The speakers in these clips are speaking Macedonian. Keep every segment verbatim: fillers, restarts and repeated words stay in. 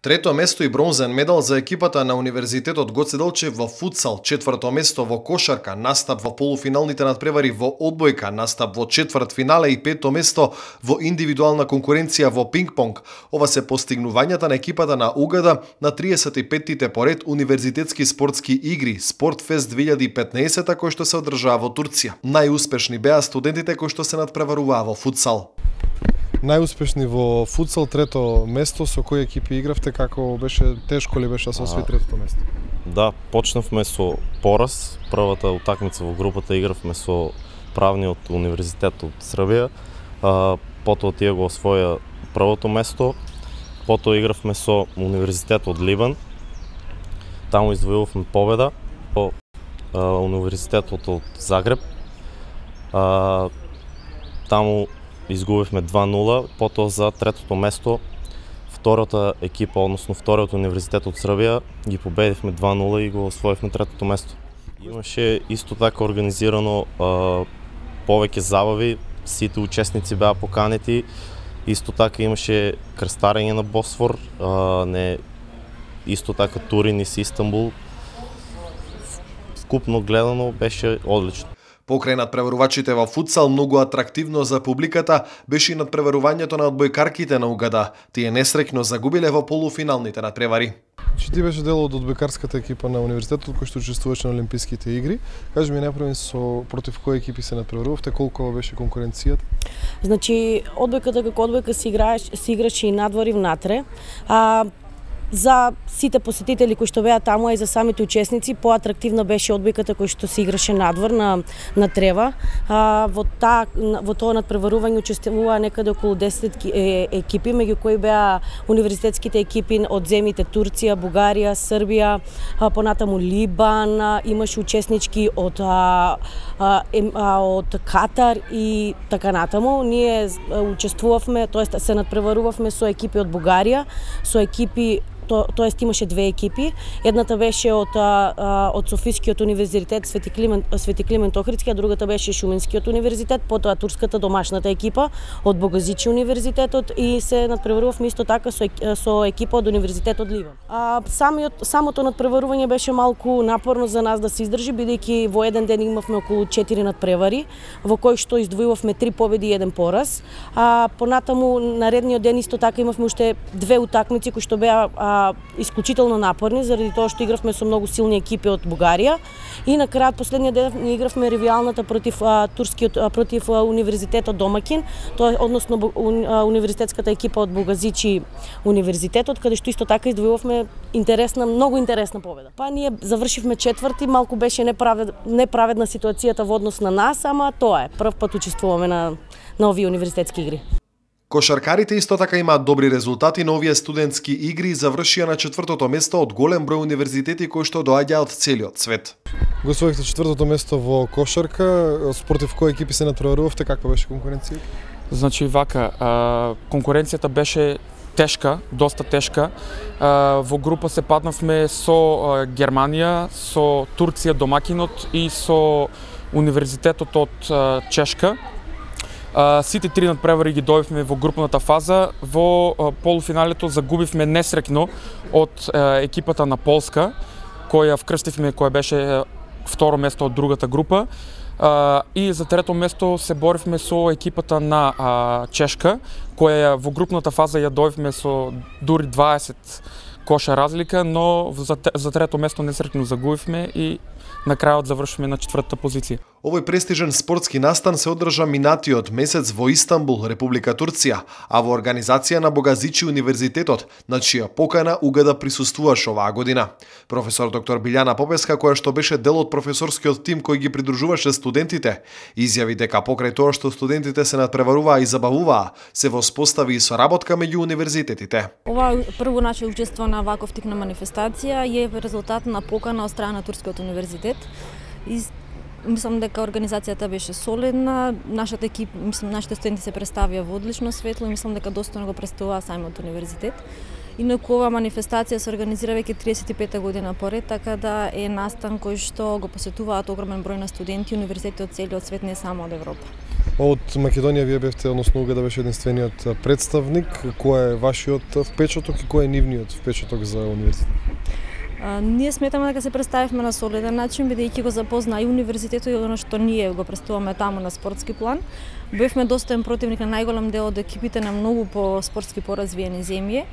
Трето место и бронзен медал за екипата на Универзитетот Гоце Делчев во футсал, четврто место во кошарка, настап во полуфиналните надпревари во одбојка, настап во четврт финале и пето место во индивидуална конкуренција во пинг-понг. Ова се постигнувањата на екипата на УГД на триесет и петтите поред универзитетски спортски игри Спортфест две илјади и петнаесетта кој што се одржаа во Турција. Најуспешни беа студентите кои што се надпреваруваа во футсал. Најуспешни во футсал, трето место. Со кои екипи игравте, како беше, тешко ли беше да се освои третото место? Да, почнавме со Пораз. Првата утакмица во групата игравме со правниот универзитет од Србија. А, потоа тие го освоја првото место. Потоа игравме со универзитет од Либан. Таму извојувавме победа. По а, универзитетот од Загреб. А, таму изгубивме два нула, потоа за третото место втората екипа, односно вториот универзитет од Србија, ги победивме два нула и го освоивме третото место. Имаше исто така организирано а, повеќе забави, сите учесници беа поканети, исто така имаше крстарење на Босфор, а, не исто така тури низ Истанбул. Вкупно гледано беше одлично. Покрај надпреварувачите во футсал, многу атрактивно за публиката беше и надпреварувањето на одбојкарките на УГД. Тие несреќно загубиле во полуфиналните надпревари. Чи ти беше дел од одбојкарската екипа на универзитетот кој што учествуваше на Олимписките игри? Кажи ми најпрво со против кои екипи се надпреварувавте, колку беше конкуренцијата? Значи, одбојката како одбојка се играеше, се играше и надвор и внатре. А за сите посетители кои што беа таму, а и за самите учесници, поатрактивна беше одбојката кој што се играше надвор на на трева. А, во та во тоа надпреварување учествуваа некаде околу десет екипи, меѓу кои беа универзитетските екипи од земјите Турција, Бугарија, Србија, а, понатаму Либан, а, имаше учеснички од а, а, а, од Катар и така натаму. Ние учествувавме, тоест се надпреварувавме со екипи од Бугарија, со екипи То, тоест имаше две екипи. Едната беше од а, од Софискиот универзитет Свети Климент Свети Климент Охридски, а другата беше Шуменскиот универзитет, потоа турската домашната екипа од Богазичи универзитетот и се надпреварувавме исто така со со екипа од универзитетот Ливан. А самиот самото надпреварување беше малку напорно за нас да се издржи, бидејќи во еден ден имавме околу четири надпревари, во кои што издвојувавме три победи и еден пораз. А понатаму наредниот ден исто така имавме уште две утакмици кои што беа а, исклучително напорни, заради тоа што игравме со многу силни екипи од Бугарија и на крајот последниот ден ние игравме ревијалната против а, турскиот а, против а, универзитетот домакин, тоа односно а, универзитетската екипа од Богазичи универзитетот, каде што исто така издвојувавме интересна, многу интересна победа. Па ние завршивме четврти, малку беше неправед, неправедна ситуацијата во однос на нас, ама тоа е, прв пат учествуваме на на овие универзитетски игри. Кошаркарите исто така имаат добри резултати на овие студентски игри и завршија на четвртото место од голем број универзитети кои што доаѓаа од целиот свет. Го освоихте четвртото место во кошарка, спротив кои екипи се надпреварувавте, каква беше конкуренцијата? Значи вака, а, конкуренцијата беше тешка, доста тешка. А, во група се паднавме со а, Германија, со Турција домакинот и со универзитетот од а, Чешка. Uh, сите три надпревари ги добивме во групната фаза. Во uh, полуфиналето загубивме несреќно од uh, екипата на Полска, која вкрстивме, која беше uh, второ место од другата група. Uh, и за трето место се боривме со екипата на uh, Чешка, која во групната фаза ја добивме со дури дваесет коша разлика, но за, за трето место несреќно загубивме и на крајот завршиме на четвртата позиција. Овој престижен спортски настан се одржа минатиот месец во Истанбул, Република Турција, а во организација на Богазичи универзитетот, на чија покана УГД присуствуваше оваа година. Професор доктор Билјана Попеска, која што беше дел од професорскиот тим кој ги придружуваше студентите, изјави дека покрај тоа што студентите се надпреваруваа и забавуваа, се воспостави и соработка меѓу универзитетите. Ова прво наше учество на ваков тип на манифестација е резултат на покана од страна на Турскиот универзитет. И мислам дека организацијата беше солидна, нашата екипа, мислам нашите студенти се представија во одлично светло и мислам дека достојно го представува самиот универзитет. Инаку ова манифестација се организира веќе триесет и пета година поред, така да е настан кој што го посетуваат огромен број на студенти и универзитети од целиот свет, не само од Европа. Од Македонија вие бевте, односно Угада беше единствениот представник. Кој е вашиот впечаток и кој е нивниот впечаток за универзитет? А, ние сметаме дека се представивме на солиден начин, бидејќи го запозна и универзитетот и оно што ние го представуваме таму на спортски план. Бевме достоен противник на најголем дел од екипите на многу по спортски поразвиени земји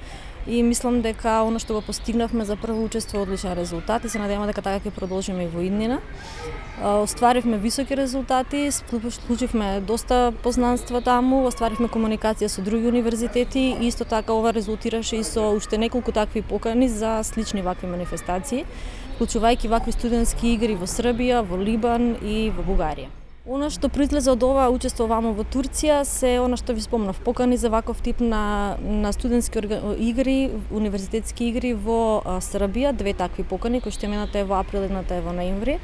и мислам дека оно што го постигнавме за прво учество е одличен резултат и се надеваме дека така ќе продолжиме и во иднина. Остваривме високи резултати, склучивме доста познанства таму, остваривме комуникација со други универзитети и исто така ова резултираше и со уште неколку такви покани за слични вакви манифестации, вклучувајќи вакви студентски игри во Србија, во Либан и во Бугарија. Она што произлезе од ова учество вамо во Турција се она што ви спомнав, покани за ваков тип на, на студентски игри, универзитетски игри во Србија, две такви покани, кои што едната е во април, едната е во ноември,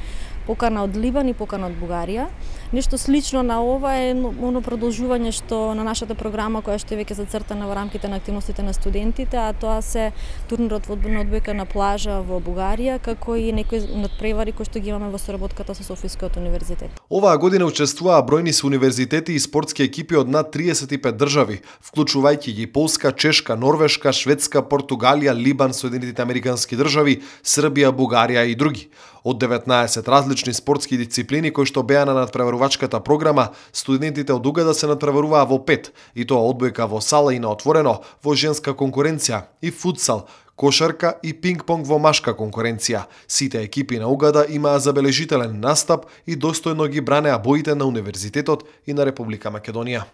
покана од Либан и покана од Бугарија. Нешто слично на ова е оно продолжување што на нашата програма која што е веќе зацртана во рамките на активностите на студентите, а тоа се турнирот во одбојка на плажа во Бугарија, како и некои надпревари кои што ги имаме во соработката со Софискиот универзитет. Оваа година учествуваа бројни се универзитети и спортски екипи од над триесет и пет држави, вклучувајќи ги Полска, Чешка, Норвешка, Шведска, Португалија, Либан, Соединетите американски држави, Србија, Бугарија и други. Од деветнаесет различни спортски дисциплини кои што беа на надпреварувачката програма, студентите од Угада се надпреваруваа во пет, и тоа одбојка во сала и на отворено, во женска конкуренција и футсал, кошарка и пинг-понг во машка конкуренција. Сите екипи на Угада имаа забележителен настап и достојно ги бранеа боите на универзитетот и на Република Македонија.